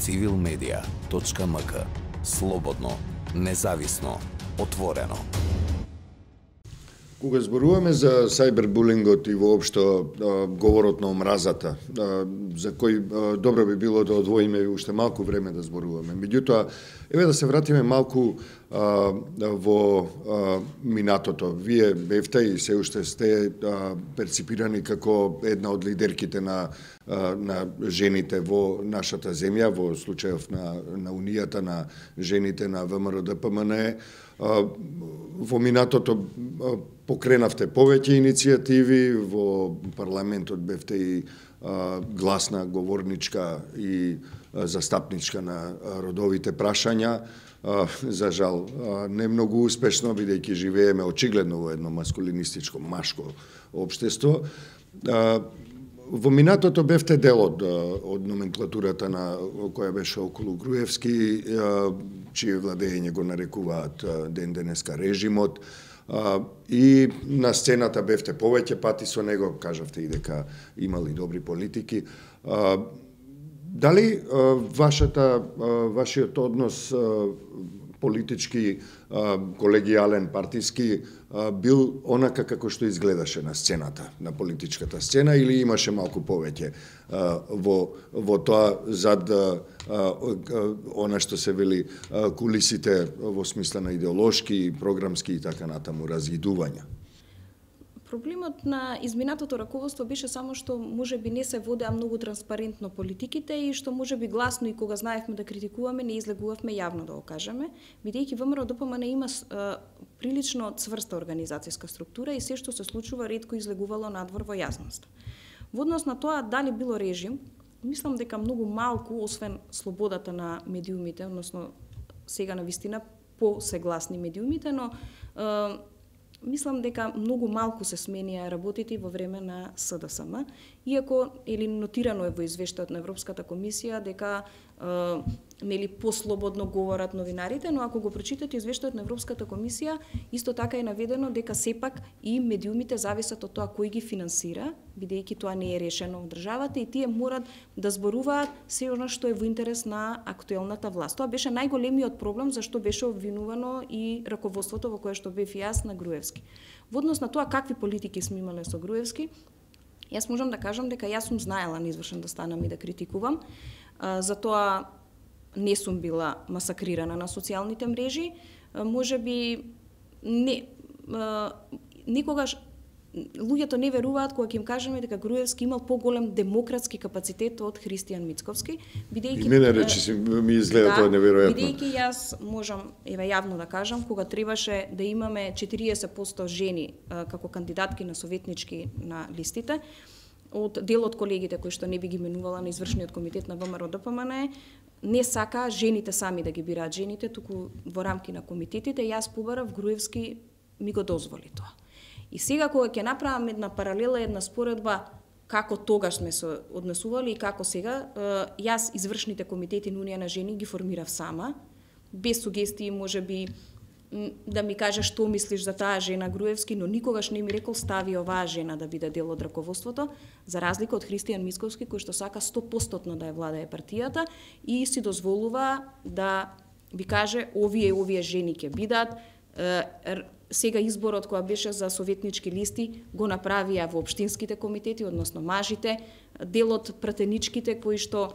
civilmedia.mk. Слободно, независно, отворено. Кога зборуваме за сајбербулингот и воопшто говорот на омразата, за кој добро би било да одвоиме уште малку време да зборуваме. Меѓутоа, еве да се вратиме малку во минатото. Вие бевте и се уште сте перципирани како една од лидерките на жените во нашата земја, во случајов на Унијата на жените на ВМРО-ДПМНЕ. Во минатото покренавте повеќе иницијативи, во парламентот бевте и гласна, говорничка и застапничка на родовите прашања. За жал, не многу успешно, бидејќи живееме очигледно во едно маскулинистичко, машко општество. Во минатото бевте дел од номенклатурата на која беше околу Груевски, чие владење го нарекуваат ден денеска режимот, и на сцената бевте повеќе пати со него, кажавте и дека имали добри политики. Дали вашиот однос политички, колегијален, партиски, бил онака како што изгледаше на сцената, на политичката сцена, или имаше малку повеќе во тоа зад она што се вели кулисите во смисла на идеолошки, програмски и така натаму разидувања? Проблемот на изминатото раководство беше само што можеби не се водеа многу транспарентно политиките и што можеби гласно и кога знаевме да критикуваме не излегувавме јавно да го кажеме, бидејќи ВМРО-ДПМНЕ има прилично цврста организацијска структура и се што се случува ретко излегувало надвор во јасност. Во однос на тоа дали било режим, мислам дека многу малку, освен слободата на медиумите, односно сега на вистина посегласни медиумите, но мислам дека многу малку се сменија работите во време на СДСМ, иако или нотирано е во извештајот на Европската комисија дека нели послободно говорат новинарите, но ако го прочитате извештајот на Европската комисија, исто така е наведено дека сепак и медиумите зависат од тоа кој ги финансира, бидејќи тоа не е решено во државата и тие морат да зборуваат се она што е во интерес на актуелната власт. Тоа беше најголемиот проблем зашто беше обвинувано и раководството во кое што бев јас на Груевски. Во однос на тоа какви политики сме имале со Груевски, јас можам да кажам дека јас сум знаела неизвршен да станам и да критикувам, затоа не сум била масакрирана на социјалните мрежи, можеби никогаш луѓето не веруваат кога ќе им кажеме дека Груевски имал поголем демократски капацитет од Христијан Мицковски, бидејќи и мене речи ми изгледа тоа неверојатно. Бидејќи јас можам еве јавно да кажам кога требаше да имаме 40% жени како кандидатки на советнички на листите, од дел од колегите кои што не би ги менувала на извршниот комитет на ВМРО-ДПМНЕ, не сака жените сами да ги бираат жените, туку во рамки на комитетите, јас побарав Груевски ми го дозволи тоа. И сега кога ќе направам една паралела, една споредба како тогаш сме се однесували и како сега, јас извршните комитети на Унија на жени ги формирав сама, без сугестии можеби да ми каже што мислиш за таа жена Груевски, но никогаш не ми рекол стави оваа жена да биде дел од раководството, за разлика од Христијан Мицковски кој што сака 100% да ја владее партијата и си дозволува да ви каже овие жени ќе бидат. Сега изборот која беше за советнички листи го направија во општинските комитети, односно мажите, дел од пратеничките кои што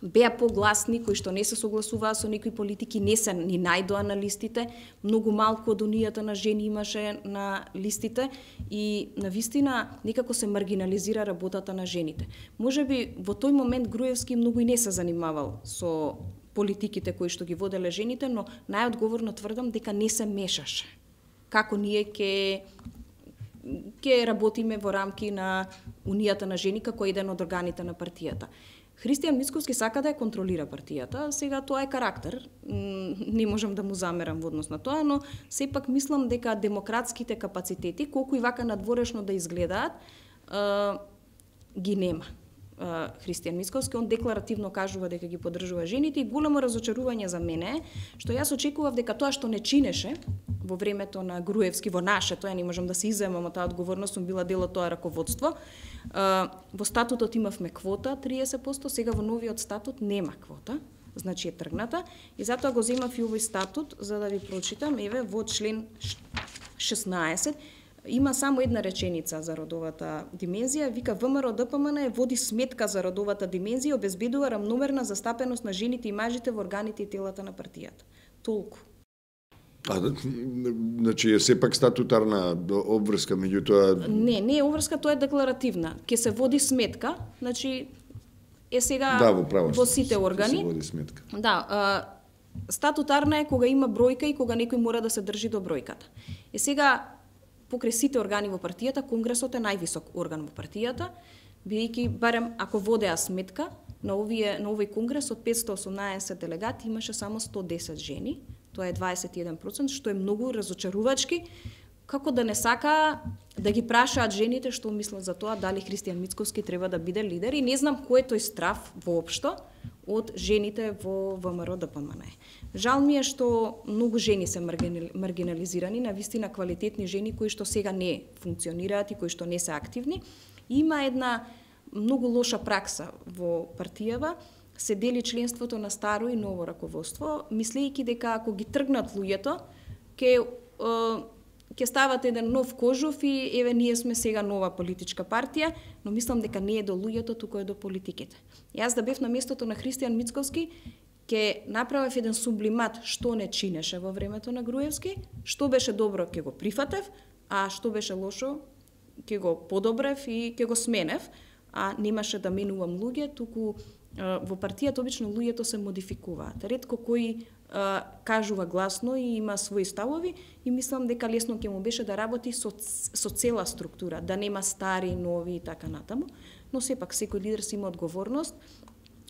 беа погласни, кои што не се согласуваа со некои политики, не се ни најдоа на листите, многу малку од Унијата на жени имаше на листите и навистина некако се маргинализира работата на жените. Можеби во тој момент Груевски многу и не се занимавал со политиките кои што ги воделе жените, но најодговорно тврдам дека не се мешаше. Како ние ќе работиме во рамки на Унијата на жени како еден од органите на партијата. Христијан Мицковски сака да ја контролира партијата, сега тоа е карактер, не можам да му замерам во однос на тоа, но сепак мислам дека демократските капацитети, колку и вака надворешно да изгледаат, ги нема. Христијан Мицковски, он декларативно кажува дека ги поддржува жените и големо разочарување за мене што јас очекував дека тоа што не чинеше во времето на Груевски, во нашето, ја не можам да се изземам од таа одговорност, сум била дел од тоа раководство. Во статутот имавме квота 30%, сега во новиот статут нема квота, значи е тргната, и затоа го земав и овој статут за да ви прочитам. Еве во член 16 има само една реченица за родовата димензија, вика ВМРО ДПМН води сметка за родовата димензија и обезбедува рамномерна застапеност на жените и мажите во органите и телата на партијата. Толку. Значи е сепак статутарна обврска, меѓутоа... Не е обврска, тоа е декларативна. Ке се води сметка, значи е сега во сите органи. Се води сметка. Да, статутарна е кога има бројка и кога некој мора да се држи до бројката. Е сега покрај сите органи во партијата, Конгресот е највисок орган во партијата, бидејќи барем ако водеа сметка на овој конгрес од 518 делегати имаше само 110 жени. Тоа е 21%, што е многу разочарувачки, како да не сака да ги прашаат жените што мислат за тоа, дали Христијан Мицковски треба да биде лидер, и не знам кој е тој страв воопшто од жените во ВМРО ДПМН. Жал ми е што многу жени се маргинализирани, навистина квалитетни жени кои што сега не функционираат и кои што не се активни. Има една многу лоша пракса во партијава, се дели членството на старо и ново раководство, мислејќи дека ако ги тргнат луѓето, ќе стават еден нов кожув и еве ние сме сега нова политичка партија, но мислам дека не е до луѓето, туку е до политиките. Јас да бев на местото на Христијан Мицковски, ќе направев еден сублимат што не чинеше во времето на Груевски, што беше добро ќе го прифатев, а што беше лошо ќе го подобрев и ќе го сменев, а немаше да менувам луѓе, туку во партијата обично луѓето се модификуваат. Ретко кој кажува гласно и има своји ставови, и мислам дека лесно ќе му беше да работи со цела структура, да нема стари, нови и така натаму, но сепак секој лидер си има одговорност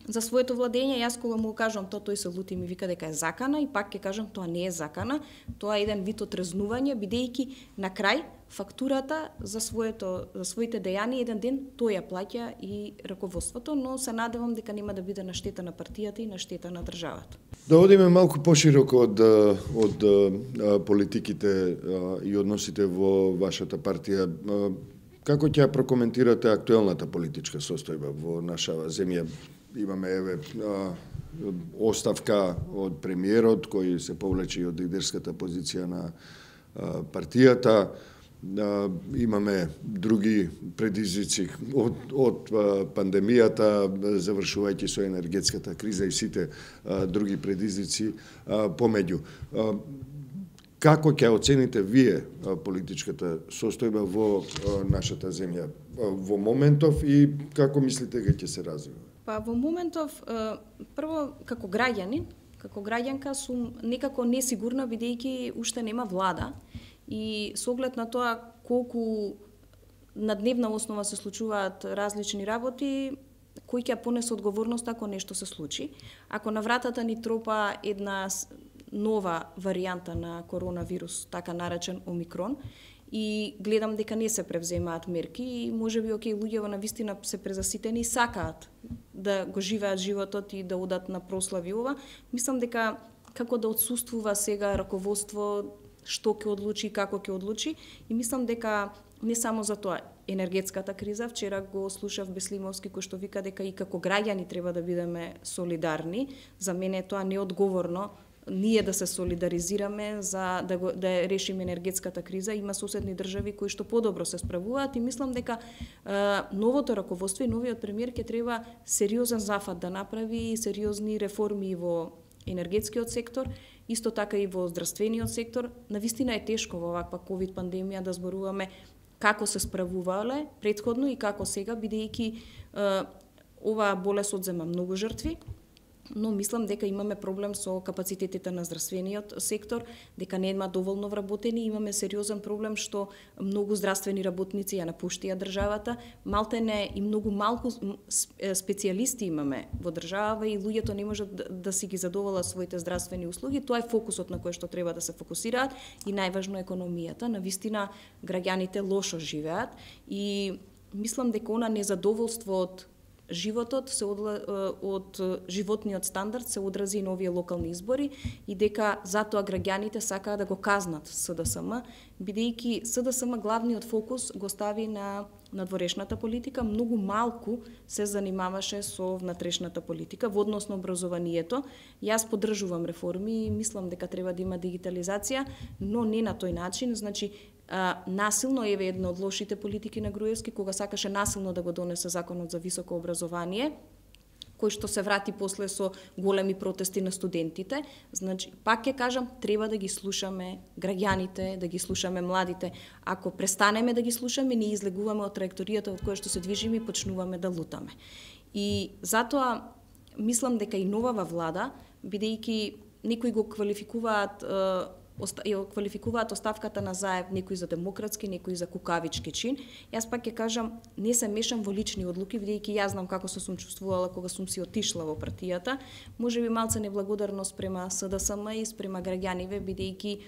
за своето владење. Јас кога му кажам тоа, тој се лути и ми вика дека е закана, и пак ќе кажам тоа не е закана, тоа е еден вид отрезнување, бидејќи на крај фактурата за своите дејани еден ден тој ја плаќа и раководството, но се надевам дека нема да биде на штета на партијата и на штета на државата. Да одиме малку пошироко од политиките и односите во вашата партија. Како ќе прокоментирате актуелната политичка состојба во наша земја? Имаме оставка од премиерот кој се повлече од лидерската позиција на партијата. Имаме други предизвици од пандемијата, завршувајќи со енергетската криза и сите други предизвици помеѓу. Како ќе оцените вие политичката состојба во нашата земја во моментов и како мислите дека ќе се развива? Па во моментов, прво како граѓанка сум некако несигурна, бидејќи уште нема влада, и со оглед на тоа колку на дневна основа се случуваат различни работи, кој ќе понесе одговорност ако нешто се случи. Ако на вратата ни тропа една нова варијанта на коронавирус, така наречен Омикрон, и гледам дека не се превземаат мерки и можеби луѓето навистина се презаситени и сакаат да го живеат животот и да одат на прослави ова, мислам дека како да отсуствува сега раководство што ќе одлучи и како ќе одлучи, и мислам дека не само за тоа енергетската криза, вчера го слушав Беслимовски кој што вика дека и како граѓани треба да бидеме солидарни. За мене тоа неодговорно ние да се солидаризираме за да решиме енергетската криза. Има соседни држави кои што подобро се справуваат, и мислам дека новото раководство и новиот премиер ќе треба сериозен зафат да направи, сериозни реформи во енергетскиот сектор, исто така и во здравствениот сектор. Навистина е тешко во оваква ковид пандемија да зборуваме како се справувале претходно и како сега, бидејќи оваа болест одзема многу жртви, но мислам дека имаме проблем со капацитетите на здравствениот сектор, дека нема доволно вработени, имаме сериозен проблем што многу здравствени работници ја напуштија државата, малтене и многу малку специјалисти имаме во држава и луѓето не можат да си ги задоволат своите здравствени услуги. Тоа е фокусот на кој што треба да се фокусираат, и најважно економијата. Навистина граѓаните лошо живеат и мислам дека она незадоволство од животот од животниот стандард се одрази на овие локални избори и дека затоа граѓаните сакаат да го казнат СДСМ, бидејќи СДСМ главниот фокус го стави на надворешната политика, многу малку се занимаваше со внатрешната политика во однос на образованието. Јас поддржувам реформи и мислам дека треба да има дигитализација, но не на тој начин, значи насилно еве една од лошите политики на Груевски, кога сакаше насилно да го донесе законот за високо образование, кој што се врати после со големи протести на студентите. Значи, пак ќе кажам, треба да ги слушаме граѓаните, да ги слушаме младите. Ако престанеме да ги слушаме, ние излегуваме од траекторијата од која што се движиме и почнуваме да лутаме. И затоа мислам дека и новава влада, бидејќи некои го квалификуваат оставката на Заев, некои за демократски, некои за кукавички чин. Јас пак ќе кажам, не се мешам во лични одлуки, бидејќи јас знам како се сум чувствувала кога сум си отишла во партијата. Можеби малце неблагодарност према СДСМ и спрема граѓаниве, бидејќи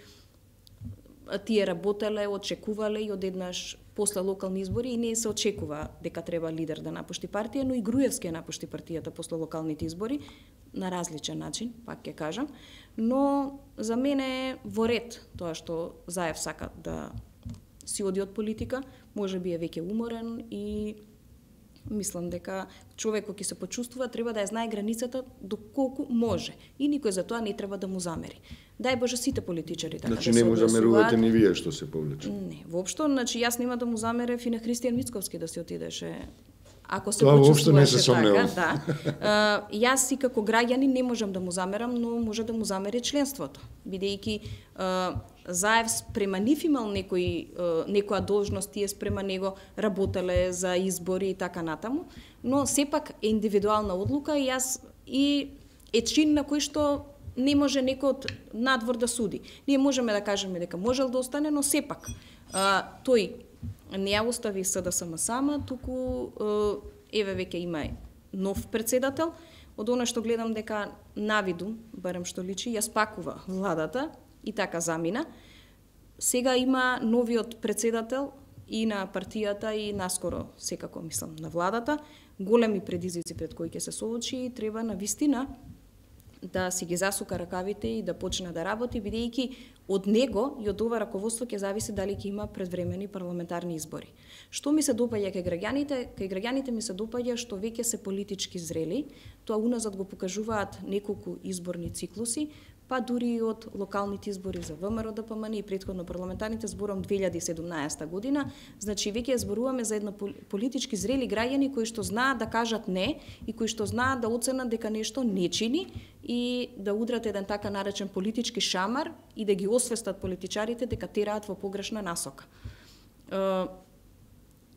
тие работеле, очекувале и одеднаш после локални избори и не се очекува дека треба лидер да напушти партија, но и Груевски ја напушти партијата после локалните избори на различен начин, пак ќе кажам. Но за мене е во ред тоа што Заев сака да си оди од политика, можеби е веќе уморен и мислам дека човек кој ќе се почувствува треба да ја знае границата доколку може и никој за тоа не треба да му замери. Дај Боже сите политичари така значи, да се не му замерувате ни вие што се повлече. Не, воопшто, значи јас нема да му замерев и на Христијан Мицковски да се отидеше. Ако се тоа воопшто не се сомневам. сомневам. Да. Јас и како граѓанин не можам да му замерам, но може да му замери членството, бидејќи Заев спрема нив имал некоја должност, тие спрема него работеле за избори и така натаму, но сепак е индивидуална одлука и јас и е чин на кој што не може некој од надвор да суди. Ние можеме да кажеме дека можел да остане, но сепак тој не ја остави СДСМ сама, туку еве веќе има нов председател. Од она што гледам дека навиду, барем што личи, ја спакува владата и така замина. Сега има новиот председател и на партијата и наскоро секако мислам на владата. Големи предизвици пред кои ќе се соочи и треба на вистина да си ги засука ракавите и да почне да работи, бидејќи од него и од ова раководство ќе зависи дали ќе има предвремени парламентарни избори. Што ми се допаѓа кај граѓаните ми се допаѓа што веќе се политички зрели, тоа уназад го покажуваат неколку изборни циклуси, па дури и од локалните избори за ВМРО ДПМН и претходно парламентарните зборам 2017 година, значи веќе зборуваме за една политички зрели граѓани кои што знаат да кажат не и кои што знаат да оценат дека нешто не чини и да удрат еден така наречен политички шамар и да ги освестат политичарите дека тераат во погрешна насока.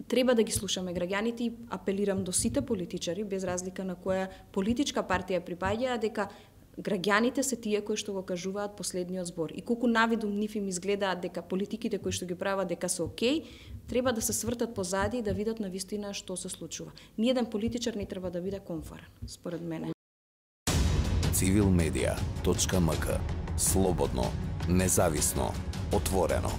Треба да ги слушаме граѓаните и апелирам до сите политичари, без разлика на која политичка партија припаѓа, дека граѓаните се тие кои што го кажуваат последниот збор. И колку навидум нив им изгледаат дека политиките кои што ги прават дека се окей, треба да се свртат позади и да видат на вистина што се случува. Ниеден политичар не треба да биде комфорен, според мене. Civilmedia.mk. Слободно, независно, отворено.